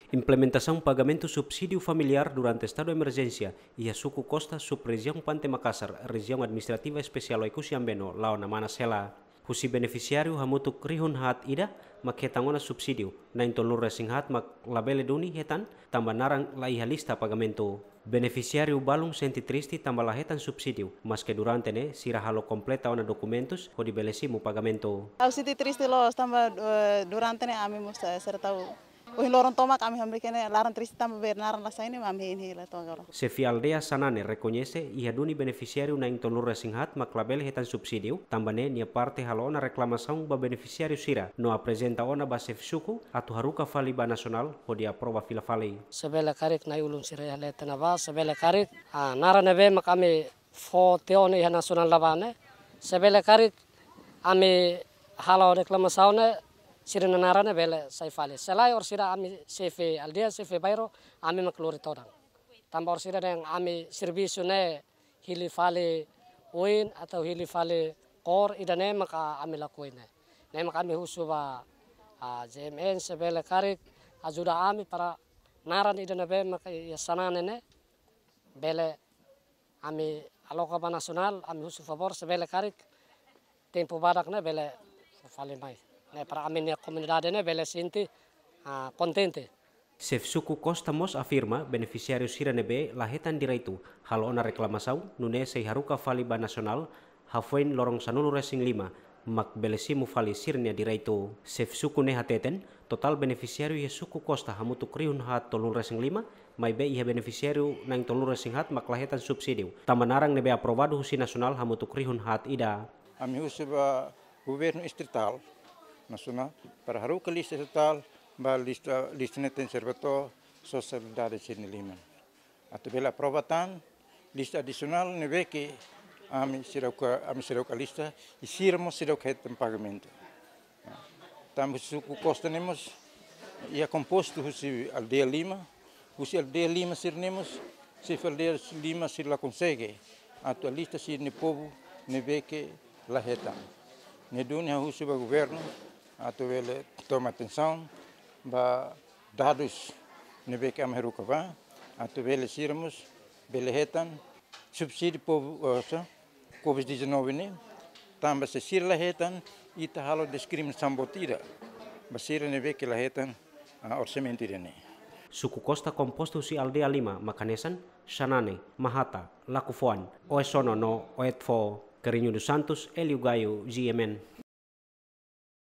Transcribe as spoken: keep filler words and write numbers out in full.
Implementasaun pagamentu subsídiu familiár durante estadu emerjénsia iha suku Costa, sub-rejiaun Pante Makasar, Rejiaun Administrativa Espesiál Oekusi Ambeno, la'o ona manas hela. Husi benefisiáriu hamutuk rihun haat ida mak hetan ona subsídiu, na'in tolunulu-resin-haat mak labele duni hetan tanba naran la iha lista pagamentu. Benefisiáriu balun sente triste tanba la hetan subsídiu, maske durante ne'e sira halo kompleta ona dokumentus hodi bele simu pagamentu. Ha'u sente triste loos tanba, eh, durante ne'e ami mós, eh, sira tau ohin loron tomak ami hamriik ne'e laran triste tanba be naran la sai ne'e mak ami hein hela to'o agora. Xefe aldeia Xanane rekoñese iha duni benefisiáriu na'in tolunulu-resin-haat mak labele hetan subsídiu, tanba ne'e nia parte halo ona reklamasaun ba benefisiáriu sira no aprezenta ona ba xefe suku atu haruka fali ba nasionál hodi aprova fila fali. Se bele karik na'i-ulun sira iha leten ne'ebá, se bele karik, ah, naran ne'ebé mak ami fó tiha ona iha nasionál ne'ebá ne'e, se bele karik ami halo reklamasaun ne'e, sira-nia naran ne'e bele sai fali. Se lae orsida ami xefe aldeia, xefe bairru, ami mak lori todan. Tanba orsida dehan ami servisu ne'e hili fali oin atau hili fali kór, ida-ne'e maka ami lakohi ne'e. Ne'e maka ami husu ba, ah, J M N se bele karik ajuda ami para naran ida ne'ebé maka iha Xanane ne'e bele ami aloka ba nasionál, ami husu favór se bele karik tempu badak ne'e bele fó fali mai. Ne'e para ami-nia komunidade ne'e bele sente, ah, kontente. Xefe suku Costa mós afirma benefisiáriu sira ne'ebé la hetan direitu halo ona reklamasaun, nune'e sei haruka fali ba nasionál, hafoin loron sanulu-resin-lima mak bele simu fali sira-nia direitu. Xefe suku ne'e hateten, totál benefisiáriu iha suku Costa hamutuk rihun haat tolunulu-resin-lima, maibé iha benefisiáriu na'in tolunulu-resin-haat mak la hetan subsídiu, tanba naran ne'ebé aprovadu husi nasionál hamutuk rihun haat ida. Ami husu ba governu estritál, nasionál, para haruka lista estritál, ba lista, lista ne'e tenke serve to'o sosiedade sira-nia liman. Atu bele aprova tan lista adisionál ne'ebé ke ami seidauk, ami seidauk alista, i sira mós seidauk hetan pagamentu. Tanba suku Costa ne'e mós iha kompostu husi aldeia lima, husi aldeia lima sira-ne'e mós, xefe aldeia lima sira la konsege atu alista sira-nia povu ne'ebé ke la hetan. Ne'e duni ha'u husu ba governu atu bele toma atensaun ba dadus ne'ebé ke ami haruka ba, atu bele sira mós bele hetan subsídiu povu, eh, sa, covid dezanove ne'e, tanba se sira la hetan, ita halo diskriminasaun boot ida ba sira ne'ebé ke la hetan, ah, orsamentu ida-ne'e. Suku Costa kompostu husi aldeia lima mak hanesan Xanane, Mahata, Lakufoan, Oesono no Oetfo. Carrinho dos Santos, Hélio Gaio, G M N.